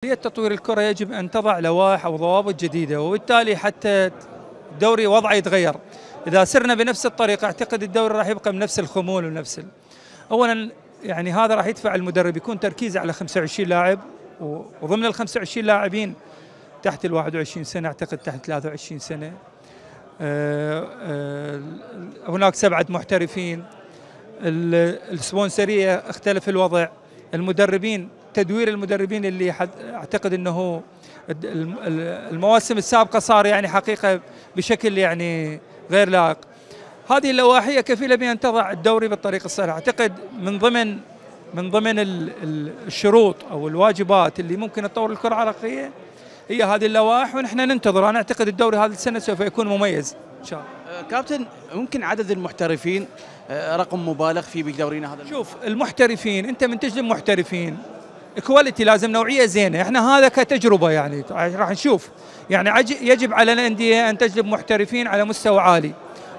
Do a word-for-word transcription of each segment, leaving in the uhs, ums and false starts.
تطوير الكرة يجب أن تضع لوائح أو ضوابط جديدة، وبالتالي حتى الدوري وضعه يتغير. إذا سرنا بنفس الطريقة أعتقد الدوري راح يبقى بنفس الخمول ونفس أولاً يعني هذا راح يدفع المدرب يكون تركيزه على خمسة وعشرين لاعب، وضمن ال خمسة وعشرين لاعبين تحت ال واحد وعشرين سنة، أعتقد تحت ثلاثة وعشرين سنة. أه أه هناك سبعة محترفين. السبونسرية اختلف الوضع. المدربين، تدوير المدربين اللي اعتقد انه المواسم السابقه صار يعني حقيقه بشكل يعني غير لائق. هذه اللوائح كفيله بان تضع الدوري بالطريق الصحيح. اعتقد من ضمن من ضمن الشروط او الواجبات اللي ممكن تطور الكره العراقيه هي هذه اللوائح، ونحن ننتظر. انا اعتقد الدوري هذه السنه سوف يكون مميز ان شاء الله. كابتن، ممكن عدد المحترفين رقم مبالغ فيه بدورينا هذا؟ شوف، المحترفين انت من تجلب محترفين كواليتي، لازم نوعيه زينه. احنا هذا كتجربه يعني راح نشوف، يعني يجب على الانديه ان تجلب محترفين على مستوى عالي،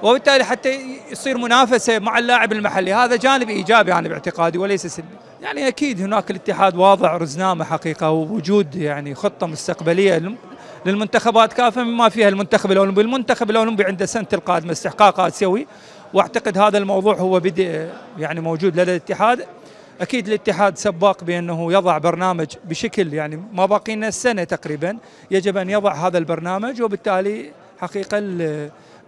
وبالتالي حتى يصير منافسه مع اللاعب المحلي. هذا جانب ايجابي يعني باعتقادي وليس سلبي. يعني اكيد هناك الاتحاد واضع رزنامه حقيقه، ووجود يعني خطه مستقبليه للمنتخبات كافه بما فيها المنتخب الاولمبي. المنتخب الاولمبي عنده سنه القادمه استحقاق اسيوي، واعتقد هذا الموضوع هو بدء يعني موجود لدى الاتحاد. اكيد الاتحاد سباق بانه يضع برنامج بشكل يعني ما باقي لنا السنه تقريبا، يجب ان يضع هذا البرنامج، وبالتالي حقيقه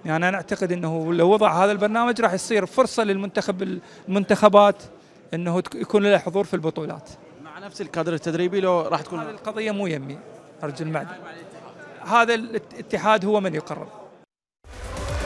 يعني انا اعتقد انه لو وضع هذا البرنامج راح يصير فرصه للمنتخب المنتخبات انه يكون له حضور في البطولات مع نفس الكادر التدريبي. لو راح تكون هذه القضيه مو يمي ارجو المعلومه، هذا الاتحاد هو من يقرر.